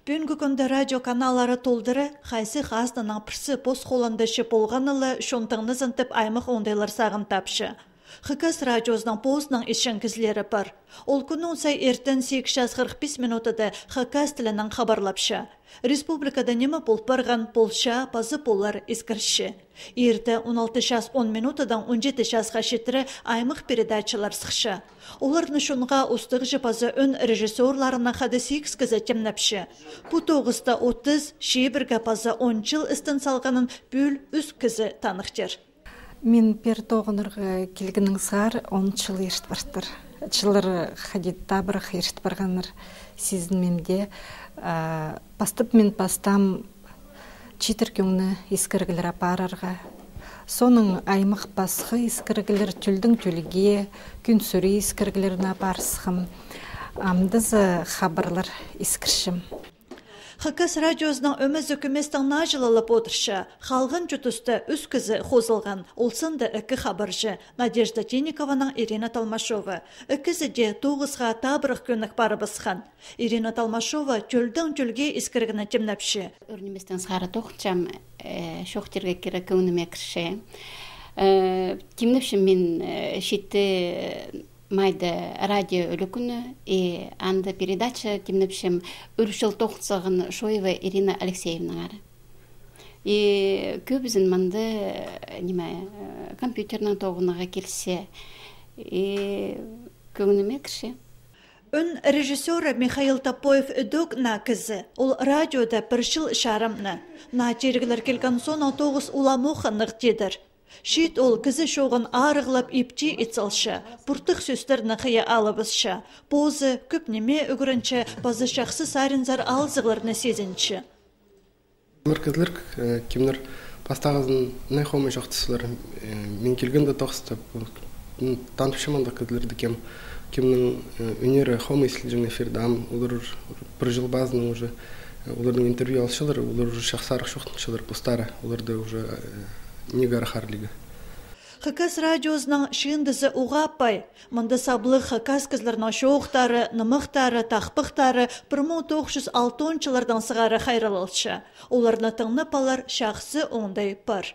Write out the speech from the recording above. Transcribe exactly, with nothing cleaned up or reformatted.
Бүгінгі күнді радио каналары толдыры, қайсы қазнының пірсі пос қоландашы болғанылы шонтыңны зынтып аймық ондайлар сағын тапшы. Хыкас радиозның позының ішін кізлері бар. Ол күнің сай ертін сегіз жүз қырық бес минутыда Хыкас тілінің қабарлапшы. Республикада немі бол барған полша, пазы болар ескірші. Ерді он алты час он минутадан он жеті часқа шетірі аймық передачалар сықшы. Олардың шунға ұстық жіпазы өн режиссерларына қады сегіз кізі темнапшы. Бұ тоғызда отыз, шебіргі пазы он жыл істін салғанын бүл үз кізі танықтыр. Мен пер тоғынырға келгінің сағар он жыл ершт барыстыр. Жылыр қадетта бір ершт барғаныр сезінмемде. Бастып мен бастам читер көңні ескіргілер апарарға. Соның аймық басқы ескіргілер түлдің түлге, күн сүрі ескіргілерін апарсығым. Амдызы хабарлар ескіршім. Хыкас радиозның өміз үкіместің нажылылып отыршы, қалғын жұтысты үз кізі қозылған, олсынды үкі хабаржы Надежда Тенникованың Ирина Талмашова. Үкізі де тоғызға табырық көнік бары бысқан. Ирина Талмашова түлдің түлге ескіргіні темнәпші. Өрнеместен сғары тоқчам шоқтерге кері көңіме кірші. Темнәпші мен шетті майда радио үлікіні и анды передача темнепшем үршіл тоқсағын Шоева Ирина Алексеевна ары. И көбізін манды неме компьютернің тоғынаға келсе и көңіме кірше. Өн режиссера Михаил Топоев үдік на кізі. Ол радиода бір жыл шарымны. На жергілер келген сон тоғыз уламуқынық дедір. Шит ол кізі шоғын арығылап епте етсалшы, бұртық сөстерні қия алыбызшы, бозы көп неме үгірінші, базы шақсы саринзар алзығыларны сезінші. Кімдер кімдер бастағызын найхомы жоқтысылар, мен келгенді тоқсты, танпышыманды кізлерді кем, кемнің өнері хомы есілжің эфирдам, олар бір жыл базының уже, олардың интервью алшылар, олар уже шақсарық шоқтыншылар пустары, оларды уже негар харлига. Хыкас радиозның шындызы уғаппай, мұнды саблы Хыкас кізлерінің шоқтары, нымықтары, тақпықтары бір мың тоғыз жүз алтыншылардан сығары қайралылшы. Оларны тыңны палар шақсы оңдай бар.